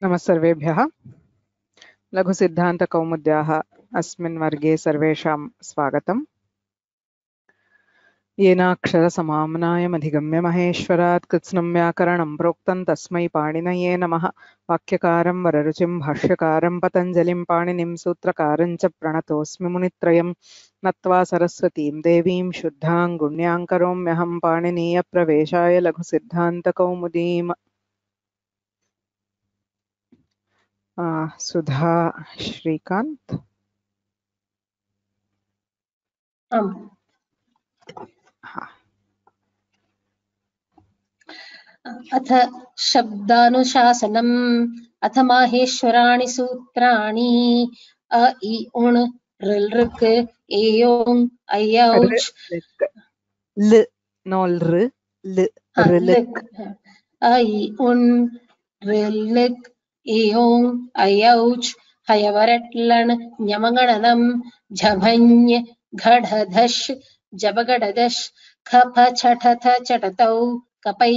नमः सर्वेभ्यः। लघुसिद्धान्तकौमुद्याः अस्मिन् वर्गे सर्वेषां स्वागतम्। येनाक्षरसमाम्नायमधिगम्य महेश्वरात् कृत्स्नं व्याकरणं प्रोक्तं तस्मै पाणिनये नमः। वाक्यकारं वररुचिं भाष्यकारं पतञ्जलिं पाणिनिं सूत्रकारं च प्रणतोऽस्मि मुनित्रयं नत्वा सरस्वतीं देवीं शुद्धां गुण्यां करोम्यहं पाणिनीयप्रवेशाय लघुसिद्धान्तकौमुदीम्। सुधा श्रीकान्त। अथ शब्दानुशासनम् अथ माहेश्वराणि सूत्राणि अ इ उण् ऋ ऋक् एयोङ् ऐऔच् ल नोल र ल लृक् अ इ उण् ऋ ऋक् एयोङ् ऐऔच् हयवरट्लण् ञमगणनम् झभञ् घढधश् जबगडदश् खफ छठथ चटतौ कपै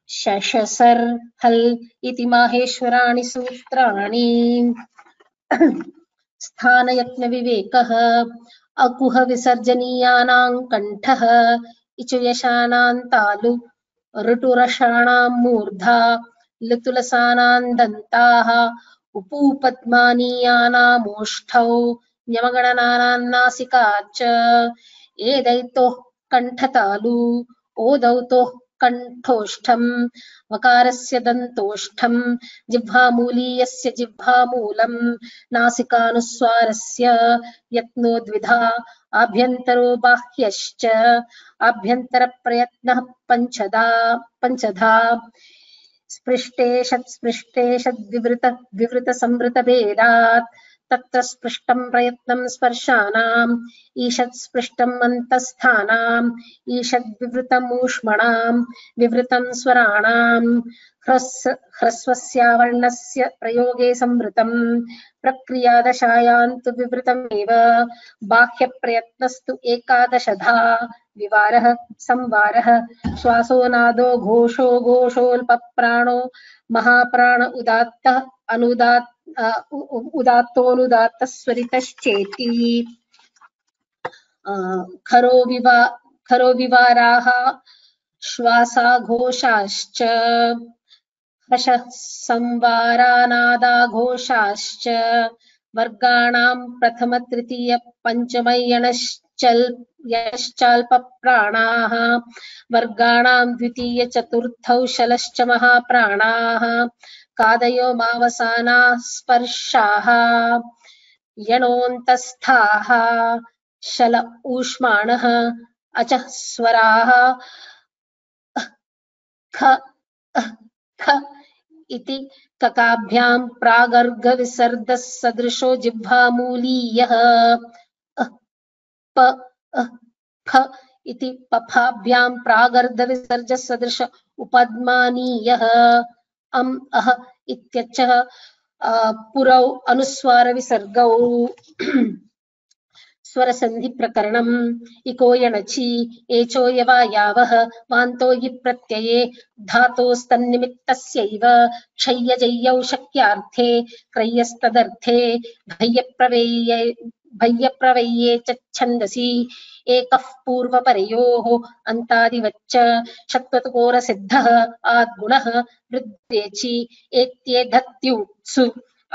शशसर् हल् इति माहेश्वराणि सूत्राणि। स्थानयत्नविवेकः अकुह विसर्जनीयानां कण्ठः इचुयशानां तालु ऋटुरषाणां मूर्धा लुतुलसानां दन्ताः उपूपद्मानीयानामोष्ठौ ञमगणनानां नासिका च एदैतोः कण्ठतालु ओदौतोः कण्ठोष्ठम् वकारस्य दन्तोष्ठम् जिह्वामूलीयस्य जिह्वामूलम् नासिकानुस्वारस्य यत्नो द्विधा आभ्यन्तरो बाह्यश्च आभ्यन्तरप्रयत्नः पञ्चधा स्पृष्टे संवृतभेदात् तत्र स्पृष्टं प्रयत्नं स्पर्शानाम् ईषत् स्पृष्टम् अन्तस्थानाम् ईषद् विवृतमूष्मणां विवृतं स्वराणाम् ह्रस्वस्यावर्णस्य प्रयोगे संवृतम् प्रक्रियादशायां तु विवृतमेव बाह्यप्रयत्नस्तु एकादशधा विवारः संवारः श्वासो नादो घोषो घोषोऽल्पप्राणो महाप्राण उदात्तः उदात्तोऽनुदात्तः स्वरितश्चेति खरो विवाराः श्वासाघोषाश्च हर्षः संवारानादाघोषाश्च वर्गाणां प्रथम तृतीय पञ्चमयश्चाल्पप्राणाः वर्गाणां द्वितीय चतुर्थौ शलश्च महाप्राणाः कादयो मावसानाः स्पर्शाः यणोऽन्तस्थाः शल ऊष्माणः अचः स्वराः ख ख इति ककाभ्यां प्रागर्गविसर्गः सदृशो जिह्वामूलीयः प फ इति पफाभ्यां प्रागर्धविसर्गः सदृश उपद्मानीयः अह इत्यचः पुरौ अनुस्वार विसर्गौ स्वरसन्धि प्रकरणम् इको यणचि एचो यवायावः वान्तो हि प्रत्यये धातोस्तन्निमित्तस्यैव क्षय्यजय्यौ शक्यार्थे क्रय्यस्तदर्थे भय्यप्रवय्ये च छन्दसि एकः पूर्वपरयोः अन्तादिवच्च षत्वतकोरसिद्धः आद्गुणः वृद्धेचि एत्येधत्युत्सु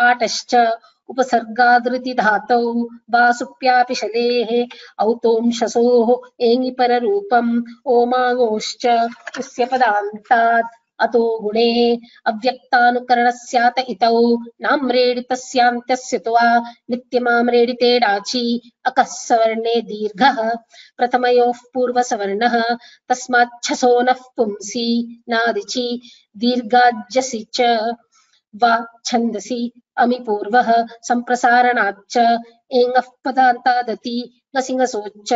आटश्च उपसर्गादृति धातौ वा सुप्यापि शलेः औतोंशसोः एङिपररूपम् ओमाङोश्च उस्य पदान्तात् अतो गुणे अव्यक्तानुकरणस्यात इतौ नाम्रेडितस्यान्त्यस्य त्वा नित्यमाम्रेडिते डाचि अकः सवर्णे दीर्घः प्रथमयोः पूर्वसवर्णः तस्माच्छसो नः पुंसि नादिचि दीर्घाज्यसि च वा छन्दसि अमि पूर्वः सम्प्रसारणाच्च एङः पदान्तादति ngसिंहसोश्च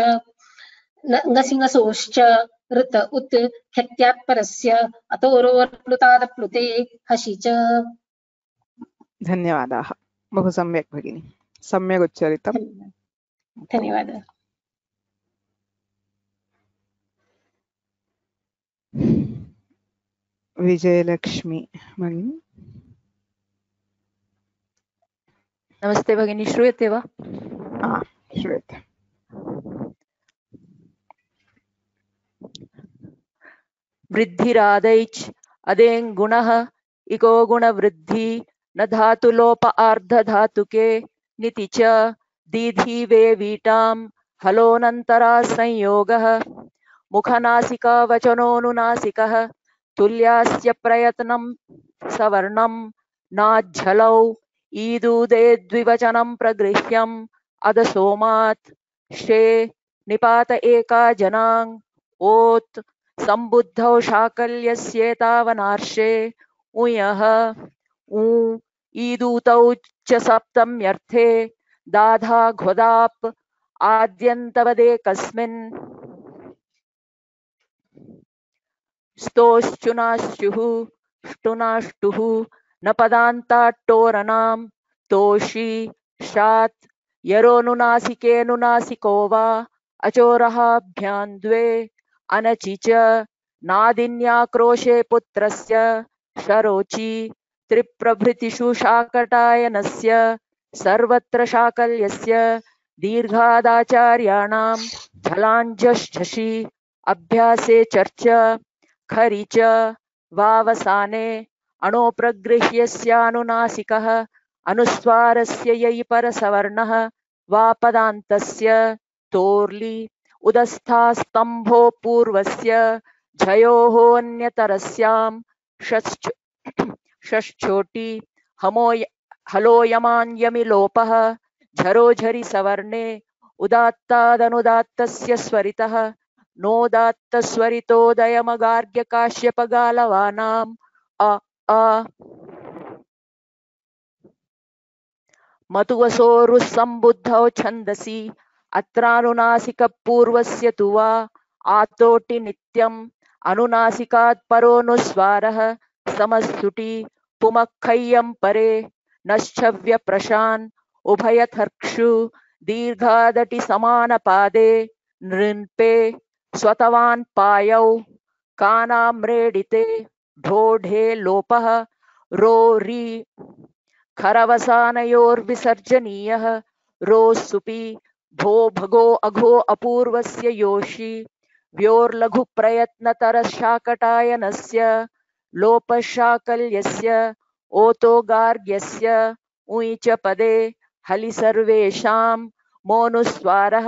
ऋत उत् ख्यत्यात्परस्य अतोरोर्प्लुतादप्लुते हसि च। धन्यवादाः। बहु सम्यक् भगिनी, सम्यक् उच्चारितम्। धन्यवादः। विजयलक्ष्मी भगिनी। नमस्ते भगिनी, श्रूयते वा? श्रूयते। वृद्धिरादैच् अदेङ् गुणः इको गुणवृद्धि न धातुलोप आर्धधातुके निति च दीधी वे वीटां हलोऽनन्तरा संयोगः मुखनासिका वचनोऽनुनासिकः तुल्यास्य प्रयत्नं सवर्णं नाज्झलौ ईदूदे द्विवचनं प्रगृह्यम् अदसोमात् शे निपात एका जनाङ् ओत् सम्बुद्धौ शाकल्यस्येतावनार्षे उयः ऊ ईदूतौ च सप्तम्यर्थे दाधा घोदाप् आद्यन्तवदेकस्मिन् स्तोश्चुनाश्चुः ष्टुनाष्टुः न पदान्ताट्टोरणां तोषी शात् यरोनुनासिकेऽनुनासिको वा अचोरहाभ्यां द्वे अनचि च नादिन्याक्रोशे पुत्रस्य शरोचि त्रिप्रभृतिषु शाकटायनस्य सर्वत्र शाकल्यस्य दीर्घादाचार्याणां झलाञ्झषि अभ्यासे चर्च खरि च वावसाने अणोप्रगृह्यस्यानुनासिकः अनुस्वारस्य यै परसवर्णः वा पदान्तस्य तोर्लि उदस्थास्तम्भो पूर्वस्य झयोः अन्यतरस्यां षष्ठोटि हलोयमान्यमिलोपः झरोझरि सवर्णे उदात्तादनुदात्तस्य स्वरितः नोदात्तस्वरितोदयमगार्ग्यकाश्यपगालवानाम् अ अ मतुवसोरुस्सम्बुद्धौ छन्दसि अत्रानुनासिकपूर्वस्य तु वा आतोटि नित्यम् अनुनासिकात् परोऽनुस्वारः समस्तुटि पुमक्खय्यं परे नश्चव्यप्रशान् उभयथर्क्षु दीर्घादटि समानपादे नृन्पे स्वतवान् पायौ कानाम्रेडिते ढोढे लोपः रोरि खरवसानयोर्विसर्जनीयः रोस्सुपि भो भगो अघो अपूर्वस्य योषि व्योर्लघुप्रयत्नतरशाकटायनस्य लोपशाकल्यस्य ओतोगार्ग्यस्य उञ् च पदे हलि सर्वेषां मोनुस्वारः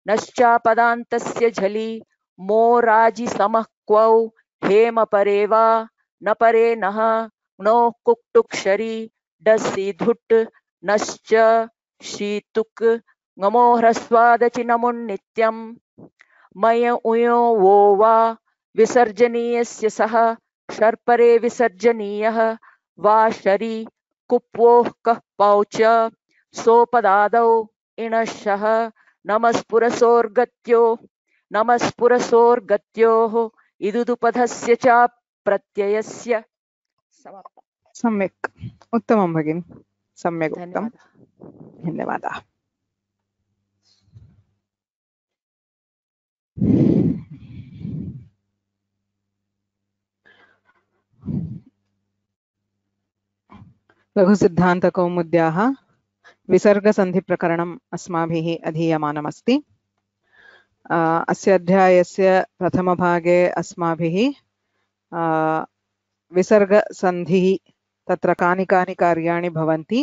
नश्चापदान्तस्य झलि मोराजिसमः क्वौ हेमपरे वा न परे नः णोः कुक्टुक्षरि डसि धुट् नश्च शीतुक् ङमो ह्रस्वादचिनमुन्नित्यम् मय उयो वो वा विसर्जनीयस्य सः शर्परे विसर्जनीयः वा शरि कुप्वोः कः पौच सोपदादौ इणशः नमस्पुरसोर्गत्योः इदुदुपधस्य च प्रत्ययस्य समाप्तम्। सम्यक्, उत्तमं भगिनि, सम्यक् उक्तं, धन्यवादाः। लघुसिद्धान्तकौमुद्याः विसर्गसन्धिप्रकरणम् अस्माभिः अधीयमानमस्ति। अस्य अध्यायस्य प्रथमभागे अस्माभिः विसर्गसन्धिः तत्र कानि कानि कार्याणि भवन्ति,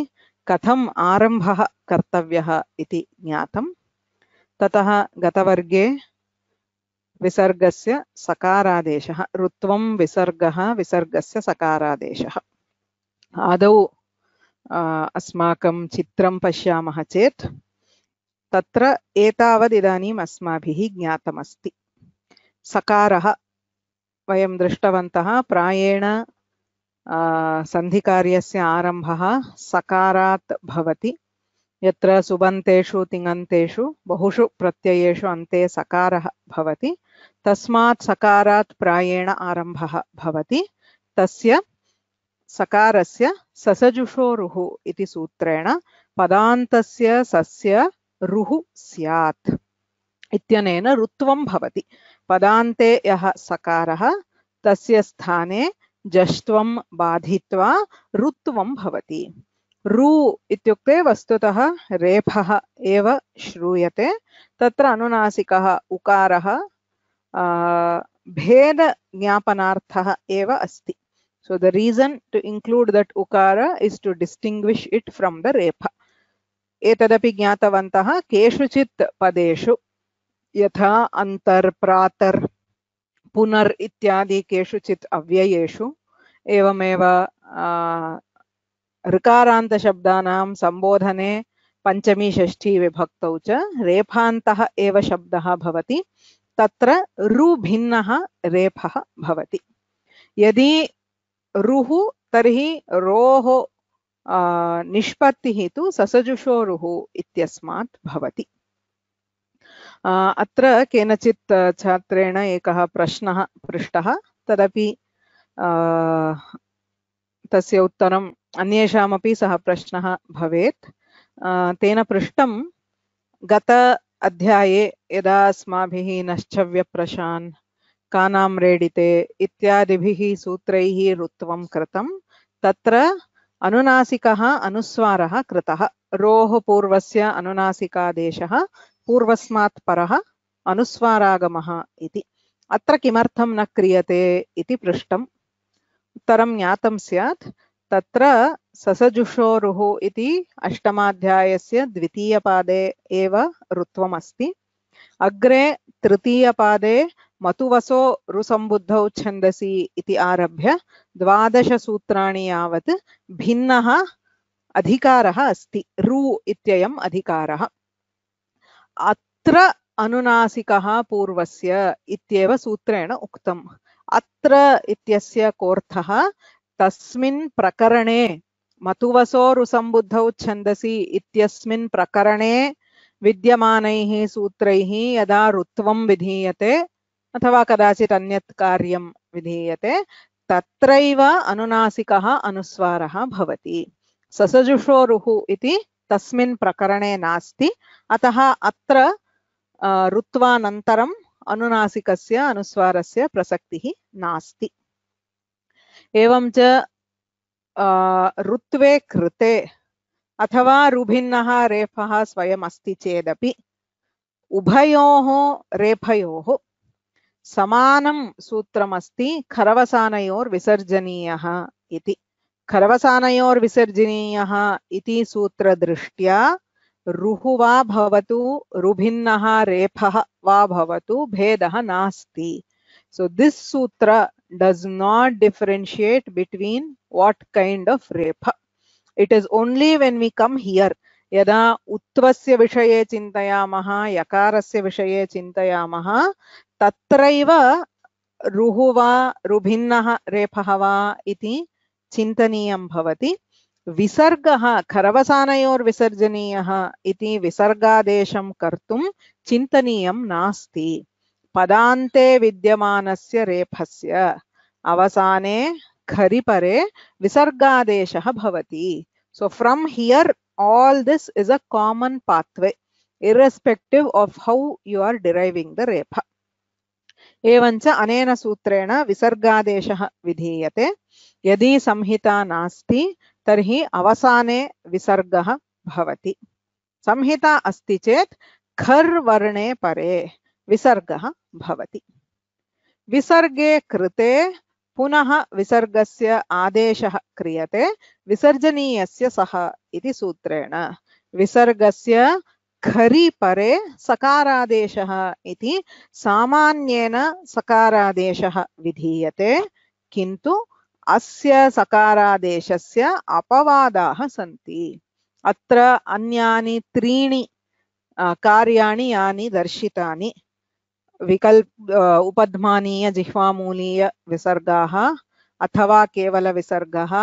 कथम् आरम्भः कर्तव्यः इति ज्ञातम्। ततः गतवर्गे विसर्गस्य सकारादेशः, ऋत्वं विसर्गः विसर्गस्य सकारादेशः। आदौ अस्माकं चित्रं पश्यामः चेत् तत्र एतावद् इदानीम् अस्माभिः ज्ञातमस्ति। सकारः वयं दृष्टवन्तः, प्रायेण सन्धिकार्यस्य आरम्भः सकारात् भवति। यत्र सुबन्तेषु तिङन्तेषु बहुषु प्रत्ययेषु अन्ते सकारः भवति, तस्मात् सकारात् प्रायेण आरम्भः भवति। तस्य सकारस्य ससजुषोरुः इति सूत्रेण पदान्तस्य सस्य रुः स्यात् इत्यनेन ऋत्वं भवति। पदान्ते यः सकारः तस्य स्थाने जष्ट्वं बाधित्वा ऋत्वं भवति। रु इत्युक्ते वस्तुतः रेफः एव श्रूयते, तत्र अनुनासिकः उकारः भेदज्ञापनार्थः एव अस्ति. So the reason to include that ukara is to distinguish it from the repha. एतदपि ज्ञातवन्तः केषुचित् पदेषु यथा अन्तर् प्रातर् पुनर् इत्यादि केषुचित् अव्ययेषु एवमेव ऋकारान्तशब्दानां सम्बोधने पञ्चमी षष्ठी विभक्तौ च रेफान्तः एव शब्दः भवति, तत्र रु भिन्नः रेफः भवति. यदि रुः तर्हि रोः निष्पत्तिः तु ससजुषोरुः इत्यस्मात् भवति. अत्र केनचित् छात्रेण एकः प्रश्नः पृष्टः, तदपि तस्य उत्तरम् अन्येषामपि सः प्रश्नः भवेत्. तेन पृष्टं गत अध्याये यदा अस्माभिः नश्चव्यप्रशान् कानां रेडिते इत्यादिभिः सूत्रैः ऋत्वं कृतं, तत्र अनुनासिकः अनुस्वारः कृतः. रोः पूर्वस्य अनुनासिकादेशः पूर्वस्मात् परः अनुस्वारागमः इति. अत्र किमर्थं न क्रियते इति पृष्टम्. उत्तरं ज्ञातं स्यात्. तत्र ससजुषोरुः इति अष्टमाध्यायस्य द्वितीयपादे एव ऋत्वमस्ति. अग्रे तृतीयपादे मतुवसो ऋसम्बुद्धौ छन्दसि इति आरभ्य 12 सूत्राणि यावत् भिन्नः अधिकारः अस्ति. रु इत्ययम् अधिकारः. अत्र अनुनासिकः पूर्वस्य इत्येव सूत्रेण उक्तम्. अत्र इत्यस्य कोऽर्थः तस्मिन् प्रकरणे मतुवसो ऋसम्बुद्धौ छन्दसि इत्यस्मिन् प्रकरणे विद्यमानैः सूत्रैः यदा ऋत्वं विधीयते अथवा कदाचित् अन्यत् कार्यं विधीयते तत्रैव अनुनासिकः अनुस्वारः भवति. ससजुषोरुः इति तस्मिन् प्रकरणे नास्ति. अतः अत्र ऋत्वानन्तरम् अनुनासिकस्य अनुस्वारस्य प्रसक्तिः नास्ति. एवं च ऋत्वे कृते अथवा रुभिन्नः रेफः स्वयम् अस्ति चेदपि उभयोः रेफयोः समानं सूत्रमस्ति खरवसानयोर्विसर्जनीयः इति. खरवसानयोर्विसर्जनीयः इति सूत्रदृष्ट्या रुः वा भवतु रुभिन्नः रेफः वा भवतु भेदः नास्ति. So this sutra does not differentiate between what kind of repha. It is only when we come here, यदा उत्वस्य विषये चिन्तयामः यकारस्य विषये चिन्तयामः तत्रैव रुः वा रुभिन्नः रेफः वा इति चिन्तनीयं भवति. विसर्गः खरवसानयोर्विसर्जनीयः इति विसर्गादेशं कर्तुं चिन्तनीयं नास्ति. पदान्ते विद्यमानस्य रेफस्य अवसाने खरिपरे विसर्गादेशः भवति. So from here all this is a common pathway irrespective of how you are deriving the repha. एवञ्च अनेन सूत्रेण विसर्गादेशः विधीयते. यदि संहिता नास्ति तर्हि अवसाने विसर्गः भवति. संहिता अस्ति चेत् खर् वर्णे परे विसर्गः भवति. विसर्गे कृते पुनः विसर्गस्य आदेशः क्रियते विसर्जनीयस्य सः इति सूत्रेण. विसर्गस्य खरि परे सकारादेशः इति सामान्येन सकारादेशः विधीयते, किन्तु अस्य सकारादेशस्य अपवादाः सन्ति. अत्र अन्यानि त्रीणि कार्याणि यानि दर्शितानि विकल्प उपध्मानीय जिह्वामूलीय विसर्गाः अथवा केवल विसर्गः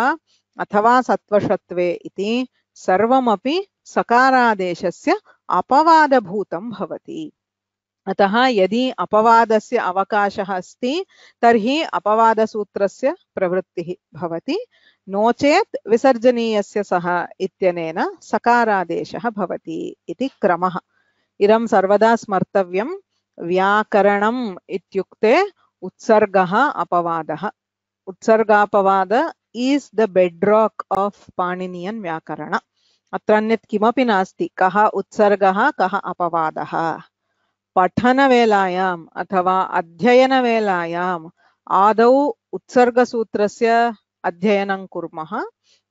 अथवा सत्वषत्वे इति सर्वमपि सकारादेशस्य अपवादभूतं भवति. अतः यदि अपवादस्य अवकाशः अस्ति तर्हि अपवादसूत्रस्य प्रवृत्तिः भवति, नो चेत् विसर्जनीयस्य सः इत्यनेन सकारादेशः भवति इति क्रमः. इदं सर्वदा स्मर्तव्यं. व्याकरणम् इत्युक्ते उत्सर्गः अपवादः. उत्सर्गापवाद is the bedrock of Paninian Vyakarana. अत्र अन्यत् किमपि नास्ति. कः उत्सर्गः कः अपवादः. पठनवेलायाम् अथवा अध्ययनवेलायाम् आदौ उत्सर्गसूत्रस्य अध्ययनं कुर्मः.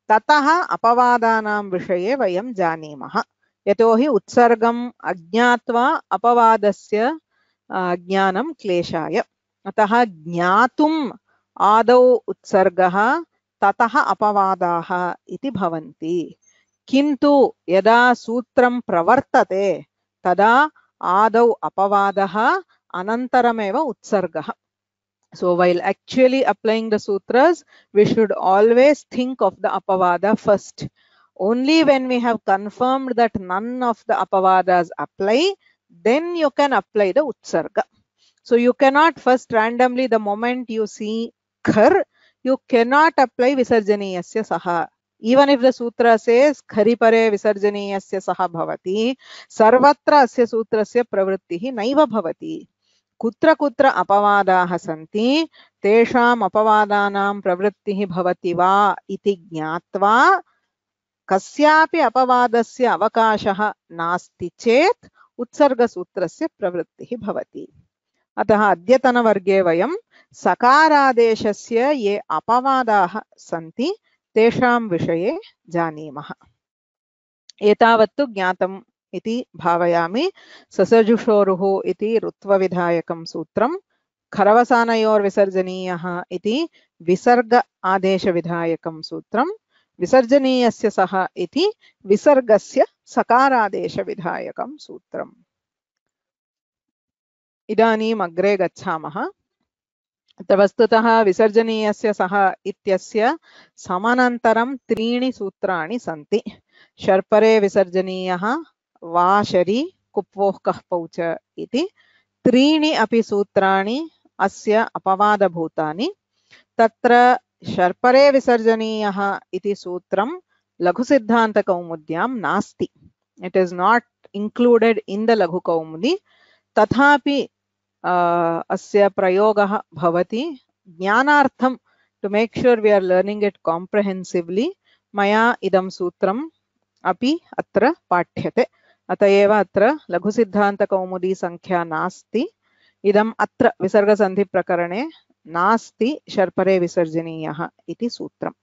ततः अपवादानां विषये वयं जानीमः. यतोहि उत्सर्गम् अज्ञात्वा अपवादस्य ज्ञानं क्लेशाय. अतः ज्ञातुम् आदौ उत्सर्गः ततः अपवादाः इति भवन्ति. किन्तु यदा सूत्रं प्रवर्तते तदा आदौ अपवादः अनन्तरमेव उत्सर्गः. So while actually applying the sutras, we should always think of the apavada first. Only when we have confirmed that none of the apavadas apply, then you can apply the utsarga. So you cannot first randomly, the moment you see khar, you cannot apply visarjaniyasya saha. Even if the sutra says khari pare visarjaniyasya saha bhavati, sarvatra asya sutrasya pravrittihi naiva bhavati. कुत्र कुत्र अपवादाः सन्ति तेषाम् अपवादानां प्रवृत्तिः भवति वा इति ज्ञात्वा कस्यापि अपवादस्य अवकाशः नास्ति चेत् उत्सर्गसूत्रस्य प्रवृत्तिः भवति. अतः अद्यतनवर्गे वयं सकारादेशस्य ये अपवादाः सन्ति तेषां विषये जानीमः. एतावत्तु ज्ञातम् इति भावयामि. ससजुषोरुः इति ऋत्वविधायकं सूत्रं, खरवसानयोर्विसर्जनीयः इति विसर्ग आदेशविधायकं सूत्रं, विसर्जनीयस्य सः इति विसर्गस्य सकारादेशविधायकं सूत्रम्. इदानीम् अग्रे गच्छामः. वस्तुतः विसर्जनीयस्य सः इत्यस्य समानान्तरं त्रीणि सूत्राणि सन्ति. शर्परे विसर्जनीयः, वाशरी, कुप्वोः कः पौच इति त्रीणि अपि सूत्राणि अस्य अपवादभूतानि. तत्र शर्परे विसर्जनीयः इति सूत्रं लघुसिद्धान्तकौमुद्यां नास्ति. It is not included in the Laghukaumudi. तथापि अस्य प्रयोगः भवति. ज्ञानार्थं to make sure we are learning it comprehensively मया इदं सूत्रम् अपि अत्र पाठ्यते. अत एव अत्र लघुसिद्धान्तकौमुदी संख्या नास्ति. इदम् अत्र विसर्गसन्धिप्रकरणे नास्ति शर्परे विसर्जनीयः इति सूत्रम्.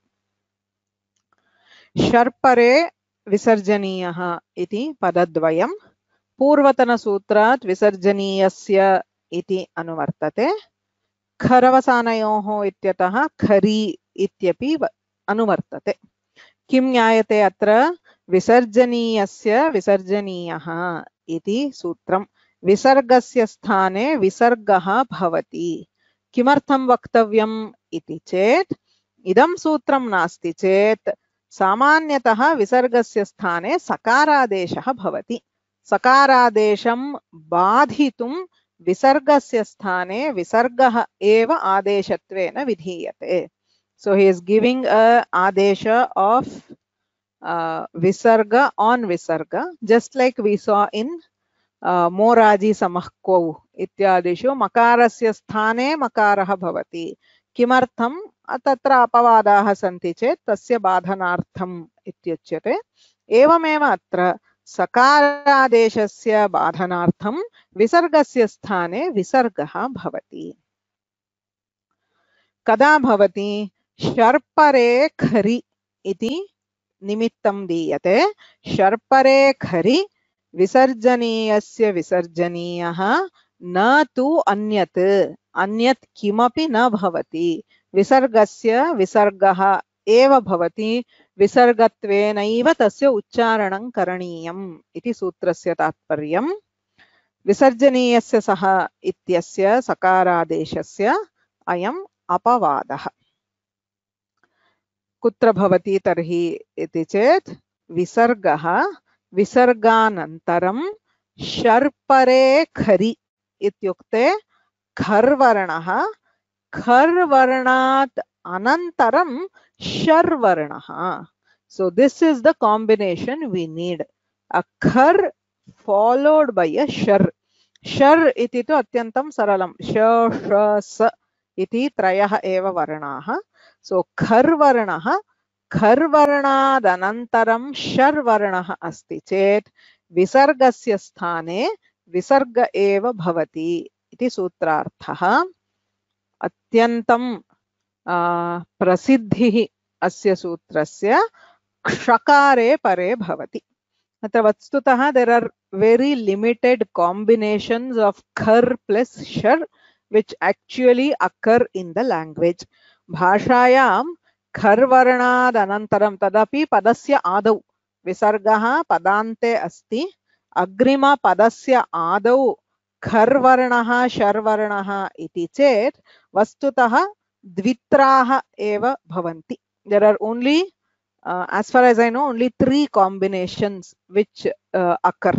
शर्परे विसर्जनीयः इति पदद्वयं पूर्वतनसूत्रात् विसर्जनीयस्य इति अनुवर्तते. खरवसानयोः इत्यतः खरी इत्यपि अनुवर्तते. किं ज्ञायते अत्र? विसर्जनीयस्य विसर्जनीयः इति सूत्रं. विसर्गस्य स्थाने विसर्गः भवति. किमर्थं वक्तव्यम् इति चेत् इदं सूत्रं नास्ति चेत् सामान्यतः विसर्गस्य स्थाने सकारादेशः भवति. सकारादेशं बाधितुं विसर्गस्य स्थाने विसर्गः एव आदेशत्वेन विधीयते. So he is giving a adesha of visarga on visarga, just like we saw in moraji samahkau ityadishu makarasya sthane makarah bhavati. किमर्थं? तत्र अपवादाः सन्ति चेत् तस्य बाधनार्थम् इत्युच्यते. एवमेव अत्र सकारादेशस्य बाधनार्थं विसर्गस्य स्थाने विसर्गः भवति. कदा भवति? शर्परे खरि इति निमित्तं दीयते. शर्परे खरि विसर्जनीयस्य विसर्जनीयः न तु अन्यत्. अन्यत् किमपि न भवति. विसर्गस्य विसर्गः एव भवति. विसर्गत्वेनैव तस्य उच्चारणं करणीयम् इति सूत्रस्य तात्पर्यम्. विसर्जनीयस्य सः इत्यस्य सकारादेशस्य अयम् अपवादः. कुत्र भवति तर्हि इति चेत् विसर्गः विसर्गानन्तरं शर्परे खरि इत्युक्ते खर्वर्णः, खर्वर्णात् अनन्तरं शर्वर्णः. So this is the combination we need. A khar followed by a shar. Shar iti tu atyantam saralam. Sh, sh, s iti trayah eva varnaha. सो खर्वर्णः खर्वर्णादनन्तरं शर्वर्णः अस्ति चेत् विसर्गस्य स्थाने विसर्ग एव भवति इति सूत्रार्थः। अत्यन्तं प्रसिद्धिः अस्य सूत्रस्य क्षकारे परे भवति। अत्र वस्तुतः there are very limited combinations of khar plus shar which actually occur in the language. भाषायां खर् वर्णाद् अनन्तरं तदपि पदस्य आदौ विसर्गः पदान्ते अस्ति, अग्रिमपदस्य आदौ खर् वर्णः शर् वर्णः इति चेत् वस्तुतः द्वित्राः एव भवन्ति। There are only as far as I know, only 3 combinations which occur.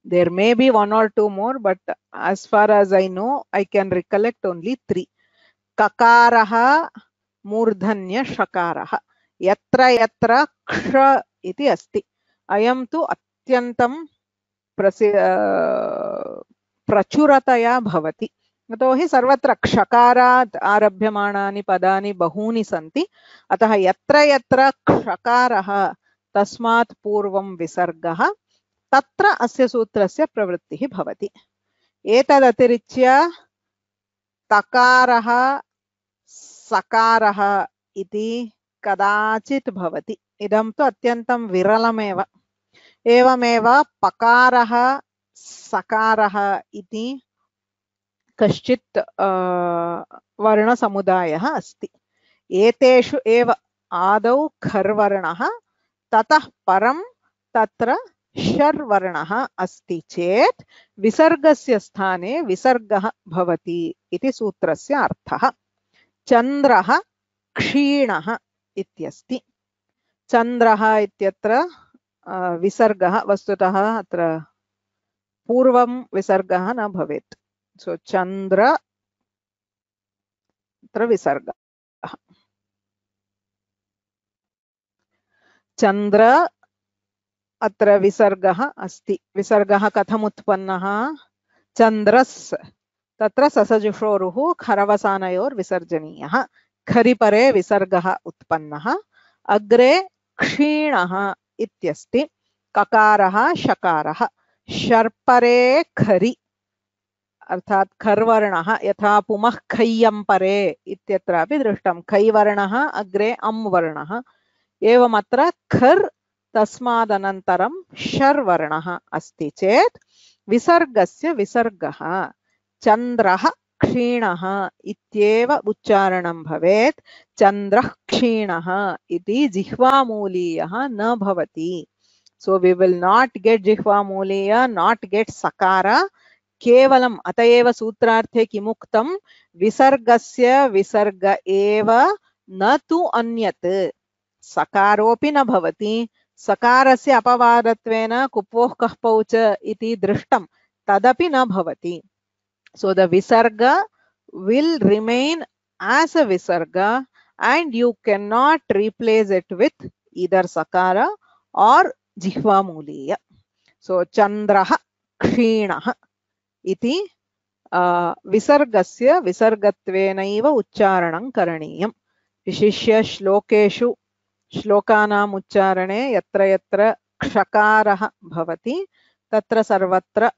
There may be 1 or 2 more, but as far as I know, I can recollect only 3. Kakaraha, Murdhanya, Shakaraha. Yatra yatra ksha iti asti. Ayam tu atyantam prachurataya bhavati. यतोहि सर्वत्र क्षकारात् आरभ्यमाणानि पदानि बहूनि सन्ति, अतः यत्र यत्र क्षकारः तस्मात् पूर्वं विसर्गः तत्र अस्य सूत्रस्य प्रवृत्तिः भवति। एतदतिरिच्य तकारः सकारः इति कदाचित् भवति, इदं तु अत्यन्तं विरलमेव। एवमेव पकारः सकारः इति कश्चित् वर्णसमुदायः अस्ति। एतेषु एव आदौ खर्वर्णः ततः परं तत्र शर्वर्णः अस्ति चेत् विसर्गस्य स्थाने विसर्गः भवति इति सूत्रस्य अर्थः। चन्द्रः क्षीणः इत्यस्ति। चन्द्रः इत्यत्र विसर्गः वस्तुतः अत्र पूर्वं विसर्गः न भवेत्। So Chandra अत्र विसर्गः। चन्द्र अत्र विसर्गः अस्ति। विसर्गः कथम् उत्पन्नः? चन्द्रस् तत्र ससजुषोरुः खरवसानयोर् विसर्जनीयः। खरिपरे विसर्गः उत्पन्नः। अग्रे क्षीणः इत्यस्ति। ककारः शकारः। शर्परे खरि अर्थात खर्वर्णः यथा पुमः खय्यं परे इत्यत्रापि दृष्टं। खैवर्णः अग्रे अम् वर्णः। एवमत्र खर् तस्मादनन्तरं शर्वर्णः अस्ति चेत् विसर्गस्य विसर्गः चन्द्रः क्षीणः इत्येव उच्चारणं भवेत्। चन्द्रः क्षीणः इति जिह्वामूलीयः न भवति। So we will not get जिह्वामूलीय, not get sakara. केवलम् अतएव सूत्रार्थे किमुक्तं विसर्गस्य विसर्ग एव न तु अन्यत्। सकारोऽपि न भवति। सकारस्य अपवादत्वेन कुप्वोः कः पौच इति दृष्टं, तदपि न भवति। So the visarga will remain as a visarga and you cannot replace it with either sakara or jihvamuliya. So chandraha kshinah इति विसर्गस्य विसर्गत्वेनैव उच्चारणं करणीयं। विशिष्य श्लोकेषु श्लोकानाम् उच्चारणे यत्र यत्र क्षकारः भवति तत्र सर्वत्र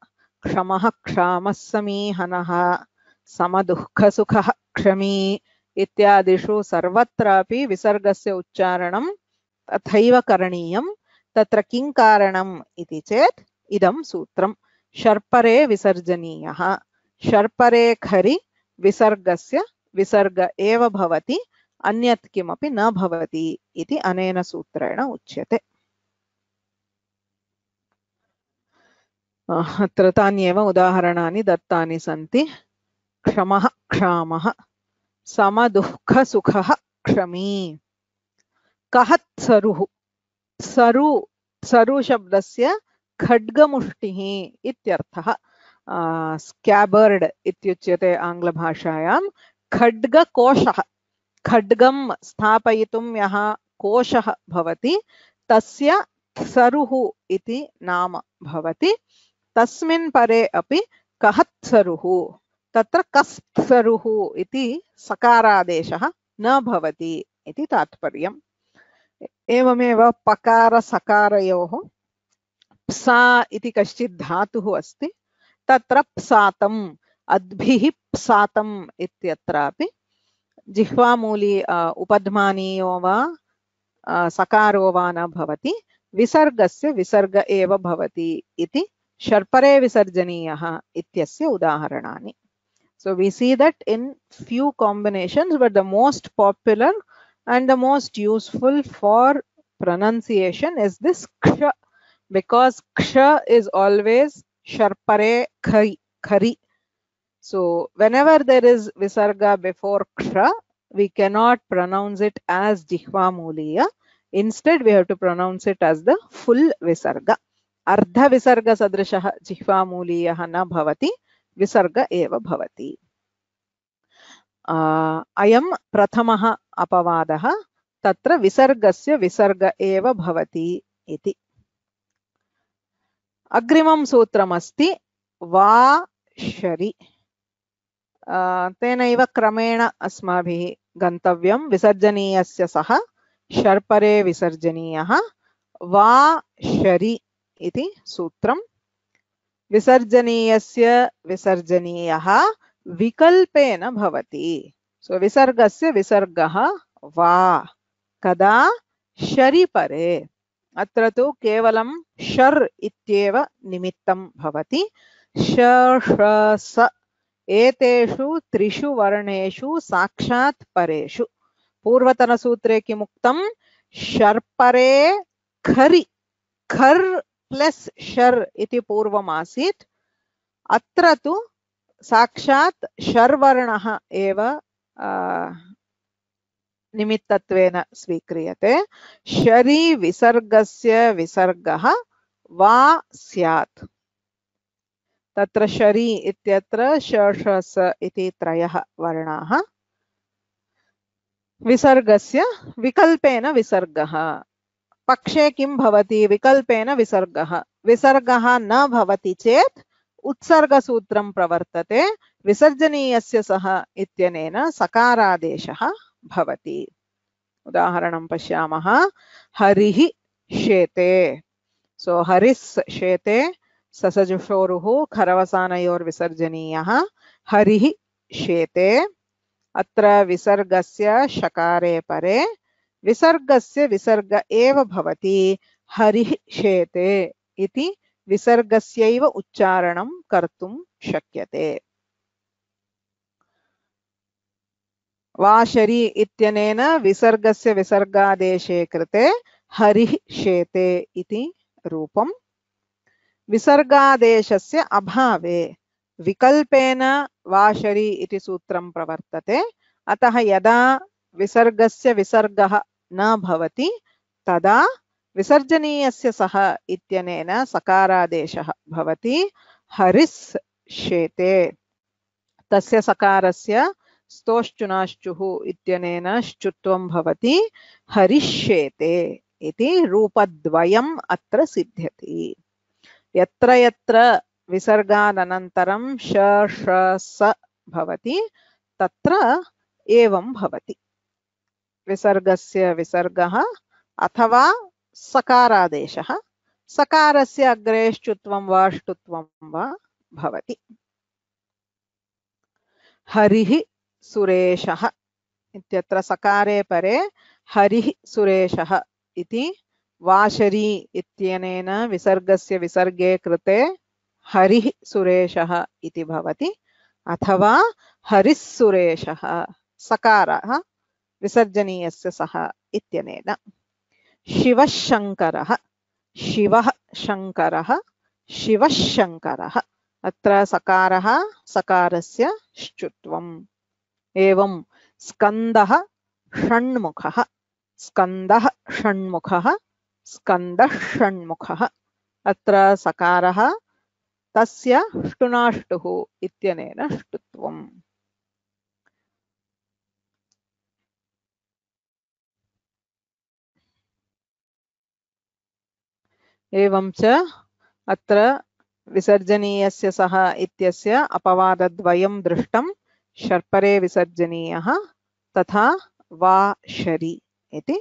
क्षमः क्षामः समीहनः समदुःखसुखः क्षमी इत्यादिषु सर्वत्रापि विसर्गस्य उच्चारणं तथैव करणीयं। तत्र किं कारणम् इति चेत् इदं सूत्रं शर्परे विसर्जनीयः। शर्परे खरि विसर्गस्य विसर्ग एव भवति, अन्यत् किमपि न भवति इति अनेन सूत्रेण उच्यते। अत्र तान्येव उदाहरणानि दत्तानि सन्ति। क्षमः क्षामः, समदुःखसुखः क्षमी। कहत्सरुः, सरु सरु शब्दस्य खड्गमुष्टिः इत्यर्थः। स्कैबर्ड इत्युच्यते आङ्ग्लभाषायां। खड्गकोशः, खड्गं स्थापयितुं यः कोशः भवति तस्य सरुः इति नाम भवति। तस्मिन् परे अपि कहत्सरुः, तत्र कस्तरुः इति सकारादेशः न भवति इति तात्पर्यम्। एवमेव पकार सकारयोः प्सा इति कश्चित् धातुः अस्ति, तत्र प्सातम् अद्भिः प्सातम् इत्यत्रापि जिह्वामूली उपध्मानीयो वा सकारो वा न भवति, विसर्गस्य विसर्ग एव भवति इति शर्परे विसर्जनीयः इत्यस्य उदाहरणानि. So we see that in few combinations, but the most popular and the most useful for pronunciation is this ksha, because ksha is always sharpare khari. So whenever there is visarga before ksha, we cannot pronounce it as jihva muliya. Instead, we have to pronounce it as the full visarga. Ardha visarga sadrishah jihva muliyah na bhavati, विसर्ग एव भवति. अयं प्रथमः अपवादः, तत्र विसर्गस्य विसर्ग एव भवति इति. अग्रिमं सूत्रमस्ति वा शरि. तेनैव क्रमेण अस्माभिः गन्तव्यं. विसर्जनीयस्य सह शर्परे विसर्जनीयः वा शरि इति सूत्रम्. विसर्जनीयस्य विसर्जनीयः विकल्पेन भवति. सो विसर्गस्य विसर्गः वा कदा शरिपरे. अत्र तु केवलं शर् इत्येव निमित्तं भवति. श श स एतेषु त्रिषु वर्णेषु साक्षात् परेषु. पूर्वतनसूत्रे किमुक्तं? शर्परे खरि, खर् प्लस शर् इति पूर्वमासीत्. अत्र तु साक्षात् शर्वर्णः एव निमित्तत्वेन स्वीक्रियते. शरि विसर्गस्य विसर्गः वा स्यात्. तत्र शरि इत्यत्र श श स इति त्रयः वर्णाः. विसर्गस्य विकल्पेन विसर्गः. पक्षे किं भवति? विकल्पेन विसर्गः. विसर्गः न भवति चेत् उत्सर्गसूत्रं प्रवर्तते. विसर्जनीयस्य सह इत्यनेन सकारादेशः भवति. उदाहरणं पश्यामः. हरिः शेते. सो हरिस् शेते ससजुषोरुः खरवसानयोर्विसर्जनीयः. हरिः शेते. अत्र विसर्गस्य शकारे परे विसर्गस्य विसर्ग एव भवति. हरिः शेते इति विसर्गस्यैव उच्चारणं कर्तुं शक्यते. वाशरि इत्यनेन विसर्गस्य विसर्गादेशे कृते हरिः शेते इति रूपम्. विसर्गादेशस्य अभावे विकल्पेन वाशरि इति सूत्रं प्रवर्तते. अतः यदा विसर्गस्य विसर्गः न भवति तदा विसर्जनीयस्य सह इत्यनेन सकारादेशः भवति. हरिस् शेते. तस्य सकारस्य स्तोश्चुनाश्चुः इत्यनेन श्चुत्वं भवति. हरिष्येते इति रूपद्वयम् अत्र सिद्ध्यति. यत्र यत्र विसर्गादनन्तरं श श स भवति तत्र एवं भवति. विसर्गस्य विसर्गः अथवा सकारादेशः. सकारस्य अग्रे श्चुत्वं वा ष्टुत्वं वा भवति. हरिः सुरेशः इत्यत्र सकारे परे हरिः सुरेशः इति वाशरि इत्यनेन विसर्गस्य विसर्गे कृते हरिः सुरेशः इति भवति. अथवा हरिः सुरेशः सकारः विसर्जनीयस्य सह इत्यनेन. शिवः शङ्करः. शिवः शङ्करः. शिवः शङ्करः. अत्र सकारः सकारस्य श्चुत्वम्. एवं स्कन्दः षण्मुखः. स्कन्दः षण्मुखः. स्कन्दः षण्मुखः. अत्र सकारः तस्य ष्टुनाष्टुः इत्यनेन ष्टुत्वम्. एवं च अत्र विसर्जनीयस्य सह इत्यस्य अपवादद्वयं दृष्टं. शर्परे विसर्जनीयः तथा वा शरि इति।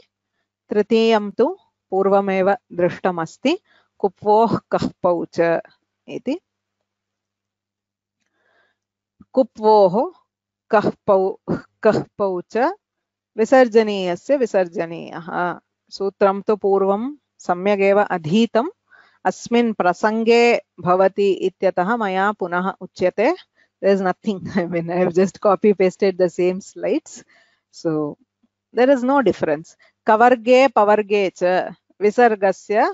तृतीयं तु पूर्वमेव दृष्टमस्ति कुप्वोः कः पौ च इति। कुप्वोः कः पौ च विसर्जनीयस्य विसर्जनीयः। सूत्रं तु पूर्वं सम्यगेव अधीतम्, अस्मिन् प्रसंगे भवति इत्यतः मया पुनः उच्यते। There is nothing, I mean, I have just copy pasted the same slides, so there is no difference. Kavarge pavarge cha visargasya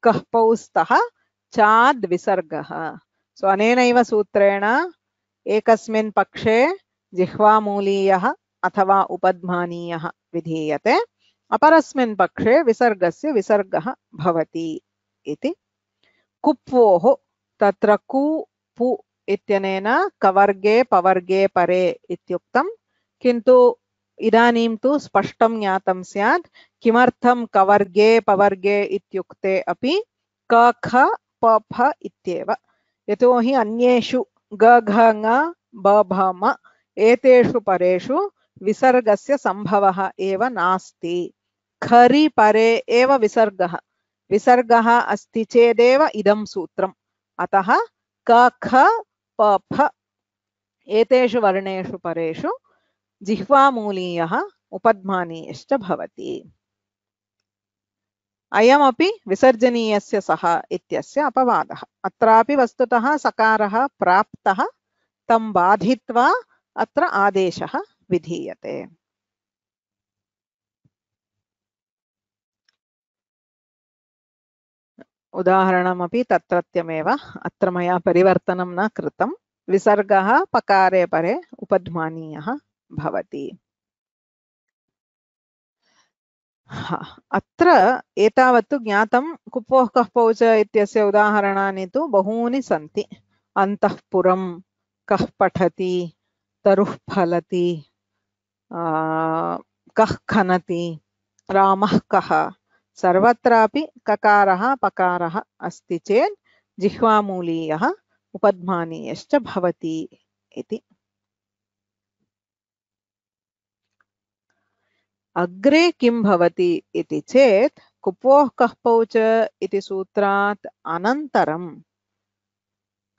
kah pau stah chad visargah. So anenaiva sutrena ekasmin pakshe jihvamuliyah अथवा उपध्मानीयः विधीयते, अपरस्मिन् पक्षे विसर्गस्य विसर्गः भवति इति। कुप्वोः तत्र कु पु इत्यनेन कवर्गे पवर्गे परे इत्युक्तं, किन्तु इदानीं तु स्पष्टं ज्ञातं स्यात् किमर्थं कवर्गे पवर्गे इत्युक्ते अपि क ख प फ इत्येव। यतोहि अन्येषु ग घ ङ ब भ म एतेषु परेषु विसर्गस्य संभवः एव नास्ति। खरि परे एव विसर्गः, विसर्गः अस्ति चेदेव इदं सूत्रम्। अतः क ख प फ एतेषु वर्णेषु परेषु जिह्वामूलीयः उपध्मानीयश्च भवति। अयमपि विसर्जनीयस्य सः इत्यस्य अपवादः। अत्रापि वस्तुतः सकारः प्राप्तः, तं बाधित्वा अत्र आदेशः विधीयते। उदाहरणमपि तत्रत्यमेव, अत्र मया परिवर्तनं न कृतं। विसर्गः पकारे परे उपध्मानीयः भवति। अत्र एतावत्तु ज्ञातं। कुप्वोः कः पौ च इत्यस्य उदाहरणानि तु बहूनि सन्ति। अन्तःपुरं, कः पठति, तरुः फलति, कः खनति, रामः कः। सर्वत्रापि ककारः पकारः अस्ति चेत् जिह्वामूलीयः उपध्मानीयश्च भवति इति। अग्रे किं भवति इति चेत् कुप्वोः कः पौ च इति सूत्रात् अनन्तरं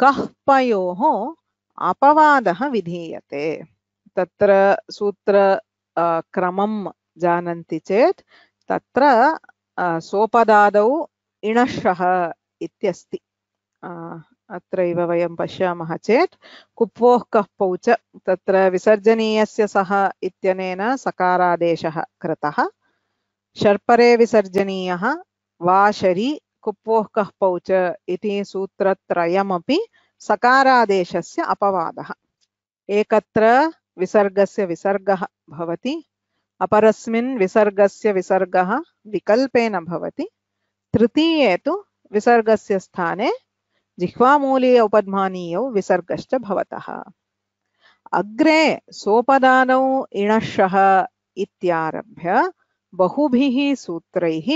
कः पयोः अपवादः विधीयते। तत्र सूत्र क्रमं जानन्ति चेत् तत्र सोपदादौ इणशः इत्यस्ति। अत्रैव वयं पश्यामः चेत् कुप्वोः कः पौ च, तत्र विसर्जनीयस्य सः इत्यनेन सकारादेशः कृतः। शर्परे विसर्जनीयः वा शरि कुप्वोः कः पौ च इति सूत्रत्रयमपि सकारादेशस्य अपवादः। एकत्र विसर्गस्य विसर्गः भवति, अपरस्मिन् विसर्गस्य विसर्गः विकल्पेन भवति, तृतीये तु विसर्गस्य स्थाने जिह्वामूलीय उपध्मानीयौ विसर्गश्च भवतः। अग्रे सोपदानौ इणशः इत्यारभ्य बहुभिः सूत्रैः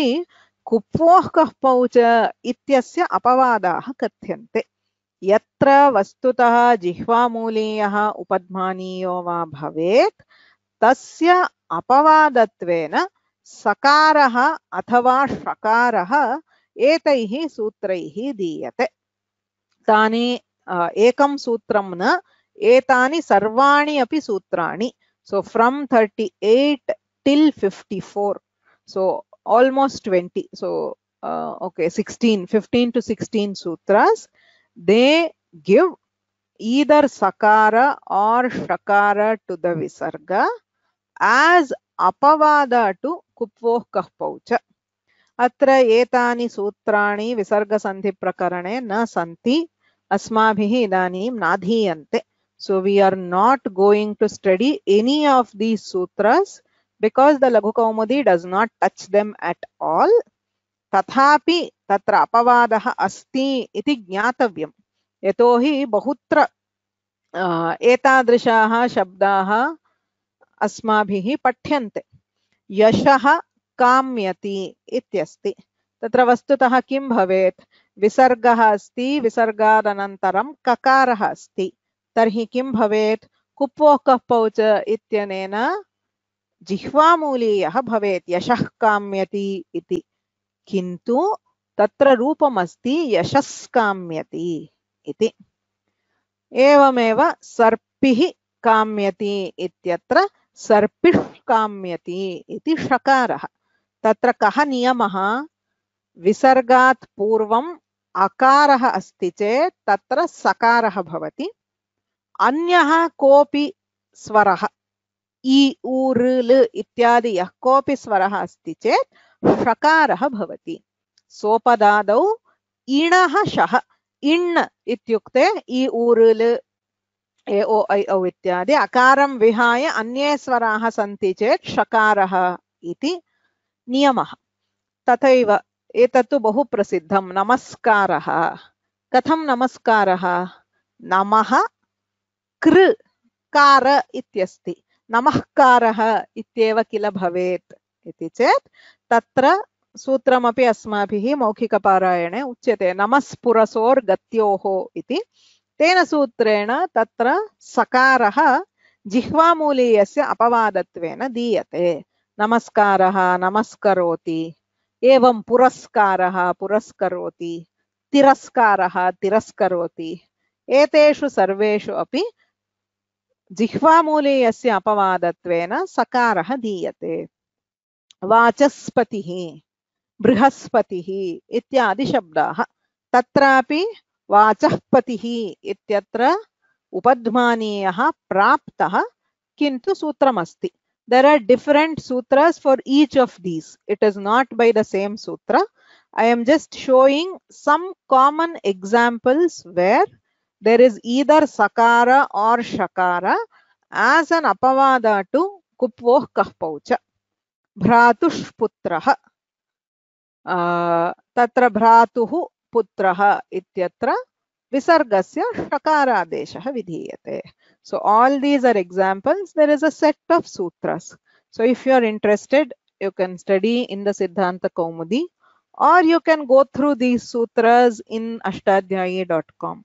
कुप्वोः कः पौ च इत्यस्य अपवादाः कथ्यन्ते। यत्र वस्तुतः जिह्वामूलीयः उपध्मानीयो वा भवेत् तस्य अपवादत्वेन सकारः अथवा षकारः एतैः सूत्रैः दीयते। तानि एकं सूत्रं न, एतानि सर्वाणि अपि सूत्राणि। So from 38 till 54, so almost 20, so okay, 15 to 16 sutras, they give either sakara or shakara to the visarga as apavada to कुप्वोः कः पौ च। अत्र एतानि सूत्राणि विसर्गसन्धिप्रकरणे न सन्ति, अस्माभिः इदानीं नाधीयन्ते। So we are not going to study any of these sutras because the Laghu Kaumudi does not touch them at all. तथापि तत्र अपवादः अस्ति इति ज्ञातव्यम्। यतोहि बहुत्र एतादृशाः शब्दाः अस्माभिः पठ्यन्ते। यशः काम्यति इत्यस्ति, तत्र वस्तुतः किं भवेत्? विसर्गः अस्ति, विसर्गादनन्तरं ककारः अस्ति, तर्हि किं भवेत्? कुप्वोः कः पौ च इत्यनेन जिह्वामूलीयः भवेत् यशः काम्यति इति किन्तु तत्र रूपमस्ति यशस्काम्यति इति एवमेव सर्पिः काम्यति इत्यत्र सर्पिः काम्यति इति षकारः तत्र कः नियमः विसर्गात् पूर्वम् अकारः अस्ति चेत् तत्र सकारः भवति अन्यः कोऽपि स्वरः इ उ ऋ ल इत्यादि यः कोऽपि स्वरः अस्ति चेत् षकारः भवति सोपदादौ इणः शः इण् इत्युक्ते इ उ ऋ ल ए ओ ऐ औ इत्यादि अकारं विहाय अन्ये स्वराः सन्ति चेत् षकारः इति नियमः तथैव एतत्तु बहु प्रसिद्धं नमस्कारः कथं नमस्कारः नमः कृ कार इत्यस्ति नमःकारः इत्येव किल भवेत् इति चेत् तत्र सूत्रमपि अस्माभिः मौखिकपारायणे उच्यते नमस्पुरसोर्गत्योः इति तेन सूत्रेण तत्र सकारः जिह्वामूलीयस्य अपवादत्वेन दीयते नमस्कारः नमस्करोति एवं पुरस्कारः पुरस्करोति तिरस्कारः तिरस्करोति एतेषु सर्वेषु अपि जिह्वामूलीयस्य अपवादत्वेन सकारः दीयते वाचस्पतिः बृहस्पतिः इत्यादि शब्दाः तत्रापि वाचःपतिः इत्यत्र उपध्मानीयः प्राप्तः किन्तु सूत्रमस्ति there are different sutras for each of these it is not by the same sutra I am just showing some common examples where there is either sakara or shakara as an apavada to kupvoh kahpaucha bhratush putrah tatra bhratuh putrah ityatra visargasya shakaradeshah vidhiyate so all these are examples there is a set of sutras so if you are interested you can study in the Siddhanta Kaumudi or you can go through these sutras in ashtadhyayi.com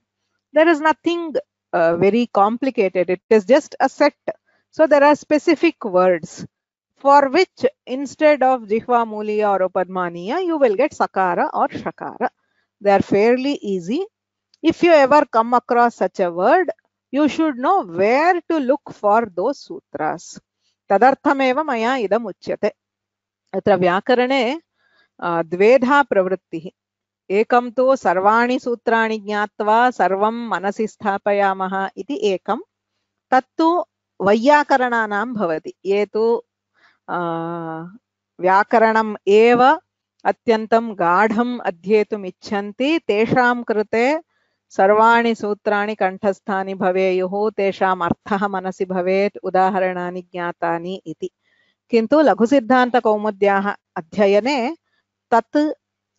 there is nothing very complicated it is just a set so there are specific words for which instead of jihva muliya or upadmaniya you will get sakara or shakara they are fairly easy if you ever come across such a word you should know where to look for those sutras tadarthameva maya idam uchyate atra vyakarane द्वेधा प्रवृत्तिः एकं तु सर्वाणि सूत्राणि ज्ञात्वा सर्वं मनसि स्थापयामः इति एकं तत्तु वैयाकरणानां भवति ये तु व्याकरणम् एव अत्यन्तं गाढम् अध्येतुम् इच्छन्ति तेषां कृते सर्वाणि सूत्राणि कण्ठस्थानि भवेयुः तेषाम् अर्थः मनसि भवेत् उदाहरणानि ज्ञातानि इति किन्तु लघुसिद्धान्तकौमुद्याः अध्ययने तत्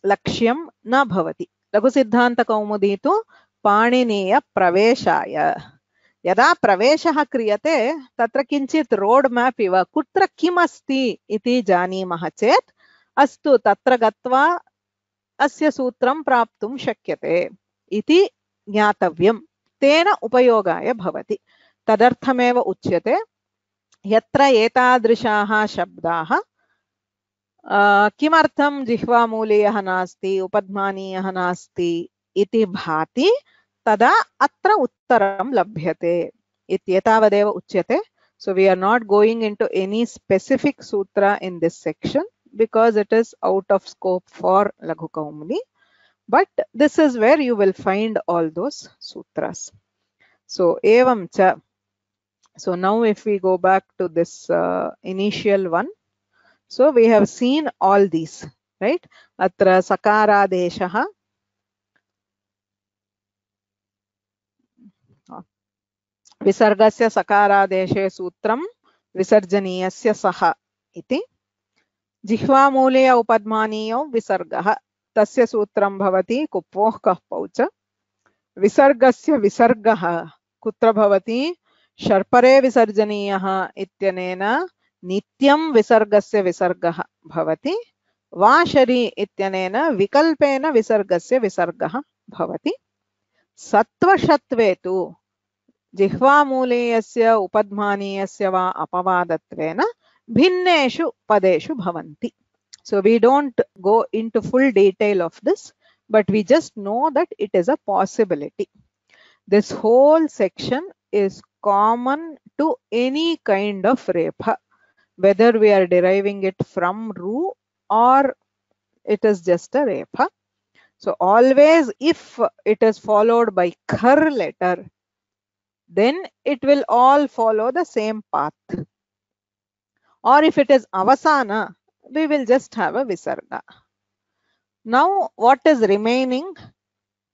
लक्ष्यं न भवति लघुसिद्धान्तकौमुदी तु पाणिनीय प्रवेशाय यदा प्रवेशः क्रियते तत्र किञ्चित् रोड मैप इव कुत्र किम् अस्ति इति जानीमः चेत् अस्तु तत्र गत्वा अस्य सूत्रं प्राप्तुं शक्यते इति ज्ञातव्यं तेन उपयोगाय भवति तदर्थमेव उच्यते यत्र एतादृशाः शब्दाः किमर्थं जिह्वामूलीयः नास्ति उपध्मानीयः नास्ति इति भाति तदा अत्र उत्तरं लभ्यते इत्येतावदेव उच्यते so we are not going into any specific sutra in this section because it is out of scope for Laghu Kaumudi but this is where you will find all those sutras so evam cha so now if we go back to this initial one so we have seen all these right atra sakaradeshah विसर्गस्य सकारादेशे सूत्रं विसर्जनीयस्य सः इति जिह्वामूलीय उपध्मानीयो विसर्गः तस्य सूत्रं भवति कुप्वोः कहपौ च विसर्गस्य विसर्गः कुत्र भवति शर्परे विसर्जनीयः इत्यनेन नित्यं विसर्गस्य विसर्गः भवति वाशरी इत्यनेन विकल्पेन विसर्गस्य विसर्गः भवति सत्वशत्वे तु जिह्वामूलीयस्य उपध्मानीयस्य वा अपवादत्वेन भिन्नेषु पदेषु भवन्ति. So we don't go into full detail of this, but we just know that it is a possibility. This whole section is common to any kind of repha, whether we are deriving it from ru or it is just a repha. So always if it is followed by khar letter, then it will all follow the same path. Or if it is avasana, we will just have a visarga. Now what is remaining?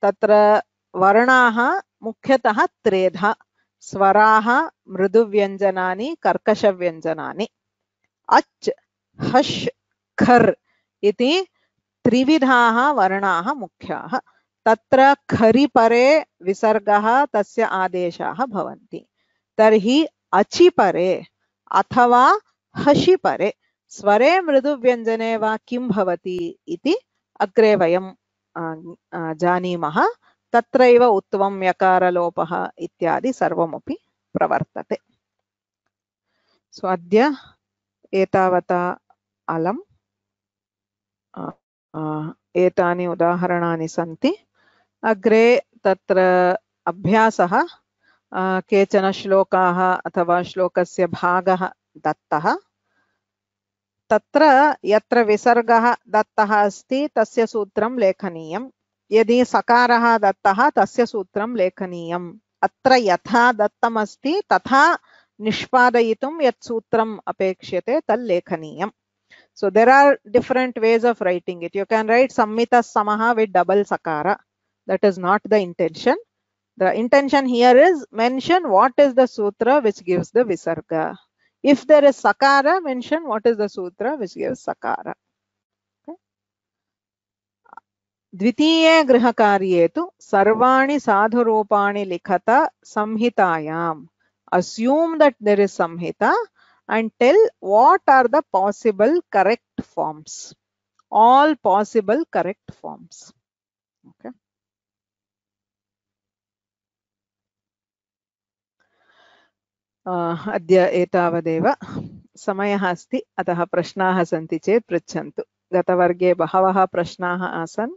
Tatra varanaha mukhyatah tredha, swaraha mriduvyanjanani karkashavyanjanani. Ach, hash, khar iti त्रिविधाः वर्णाः मुख्याः. तत्र खरि परे विसर्गः तस्य आदेशाः भवन्ति. तर्हि अचि परे अथवा हषि परे स्वरे मृदुव्यञ्जने वा किं भवति इति अग्रे वयं जानीमः. तत्रैव उत्वं यकारलोपः इत्यादि सर्वमपि प्रवर्तते. सो अद्य एतावता अलम् एतानि उदाहरणानि सन्ति. अग्रे तत्र अभ्यासः केचन श्लोकाः अथवा श्लोकस्य भागः दत्तः. तत्र यत्र विसर्गः दत्तः अस्ति तस्य सूत्रं लेखनीयं. यदि सकारः दत्तः तस्य सूत्रं लेखनीयम्. अत्र यथा दत्तमस्ति तथा निष्पादयितुं यत् सूत्रम् अपेक्ष्यते तत् लेखनीयम्. So there are different ways of writing it. You can write Sammita Samaha with double sakara. That is not the intention. The intention here is mention what is the sutra which gives the visarga. If there is sakara, mention what is the sutra which gives sakara. Okay. Dvitiye grihakarye tu sarvani sadhurupani likhata samhitayam. Assume that there is samhita and tell what are the possible correct forms. All possible correct forms. Okay. अद्य एतावदेव. समयः अस्ति, अतः प्रश्नाः सन्ति चेत् पृच्छन्तु. गतवर्गे बहवः प्रश्नाः आसन्,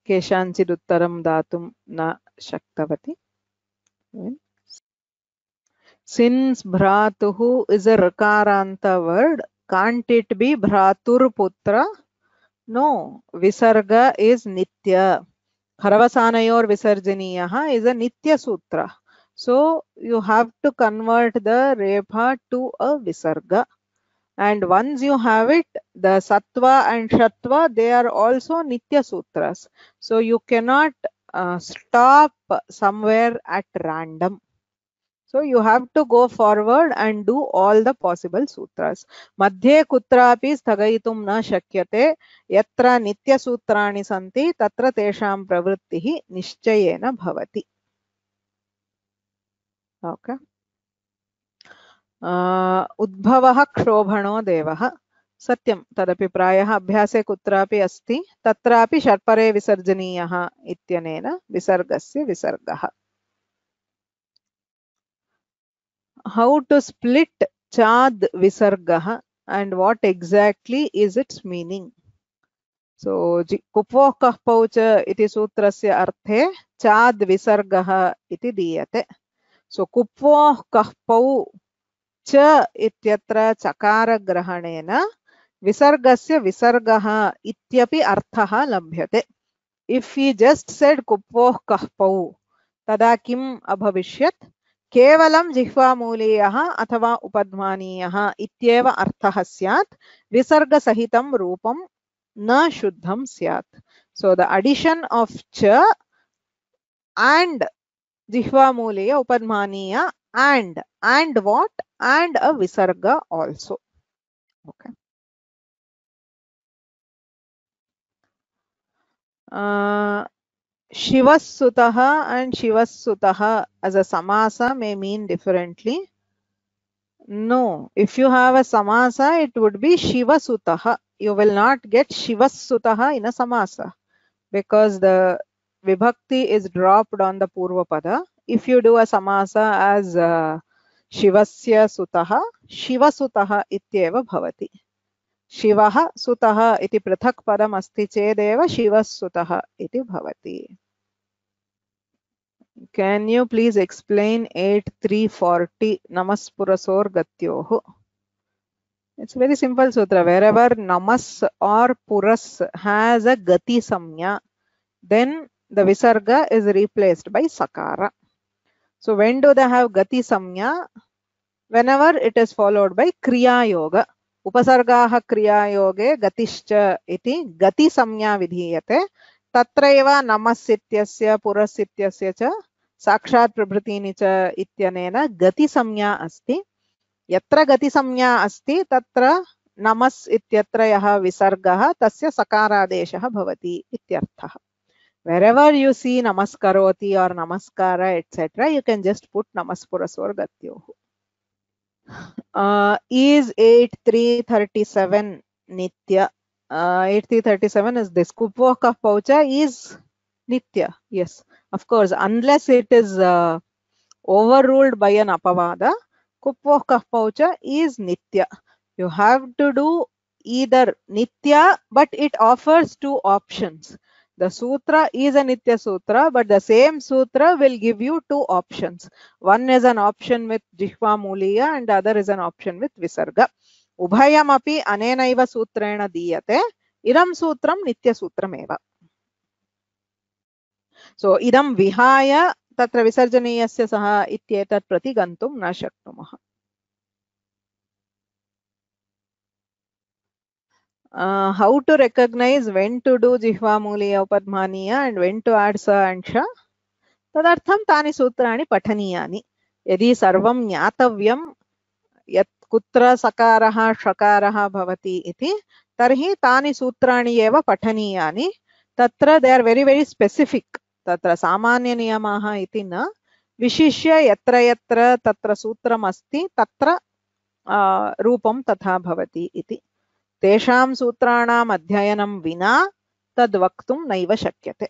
केषाञ्चित् उत्तरं दातुं न शक्तवती. Since bhratuhu is a rakaranta word, can't it be bhratur putra? No, visarga is nitya. Kharavasanayor visarjaniyaha is a nitya sutra. So you have to convert the repha to a visarga. And once you have it, the sattva and shatva, they are also nitya sutras. So you cannot stop somewhere at random. So you have to go forward and do all the possible sutras. Madhye kutrapi sthagayitum na shakyate yatra nitya sutrani santi tatra tesham pravrittihi nishchayena bhavati. Okay. Udbhavah kshobhano devah. Satyam tadapi prayah abhyase kutrapi asti tatrapi sharpare visarjaniyah ityanena visargasya visargah. How to split chad visargah and what exactly is its meaning? So kupvoh kahpau cha iti sutrasya arthe chad visargah iti diyate. So kupvoh kahpau cha ityatra chakara grahanena visargasya visargah ityapi arthah labhyate. If he just said kupvoh kahpau, tada kim abhavishyat? केवलं जिह्वामूलीयः अथवा उपध्मानीयः इत्येव अर्थः स्यात्. विसर्गसहितं रूपं न शुद्धं स्यात्. So the addition of ch and जिह्वामूलीय उपध्मानीय and what? And a visarga also. Okay. Shivasutaha and Shivasutaha as a samasa may mean differently. No, if you have a samasa, it would be Shivasutaha. You will not get Shivasutaha in a samasa because the vibhakti is dropped on the purva pada. If you do a samasa as शिवस्य सुतः शिवसुतः इत्येव भवति। शिवः सुतः इति पृथक् पदम् अस्ति चेदेव शिवसुतः इति भवति। Can you please explain 8340 Namaspurasorgatyoh? It's a very simple sutra. Wherever namas or puras has a gati samya, then the visarga is replaced by sakara. So when do they have gati samya? Whenever it is followed by kriya yoga. Upasargaha kriya yoge gatischa iti gati samya vidhiyate. Tatraiva namasityasya purasityasya cha साक्षात् प्रभृतीनि च इत्यनेन गति संज्ञा अस्ति। यत्र गति संज्ञा अस्ति तत्र नमस् इत्यत्र यः विसर्गः तस्य सकारादेशः भवति इत्यर्थः। Wherever you see namaskaroti or namaskara etc., you can just put namaspurasorgatyoh. Is 8337 nitya? 8337 is this. Kupvoh kaf paucha is nitya. Yes. Of course, unless it is overruled by an apavada, kupvoh kaf paucha is nitya. You have to do either nitya, but it offers two options. The sutra is a nitya sutra, but the same sutra will give you two options. One is an option with jihva muliya and the other is an option with visarga. Ubhayam api anenaiva sutrena diyate. Idam sutram nitya sutram eva. So idam vihaya tatra visarjaniyasya saha ityetat prati gantum na shaknumah. How to recognize when to do jihva muliya upadmaniya and when to add sa and sha? Tadartham tani sutrani pathaniyani. Yadi sarvam jnatavyam yat kutra sakaraha shakaraha bhavati iti tarhi tani sutrani eva pathaniyani. Tatra they are very very specific. Tatra samanya niyamaha iti na vishishya yatra yatra tatra sutram asti tatra rupam tatha bhavati iti. Tesham sutranam adhyayanam vina tad vaktum naiva shakyate.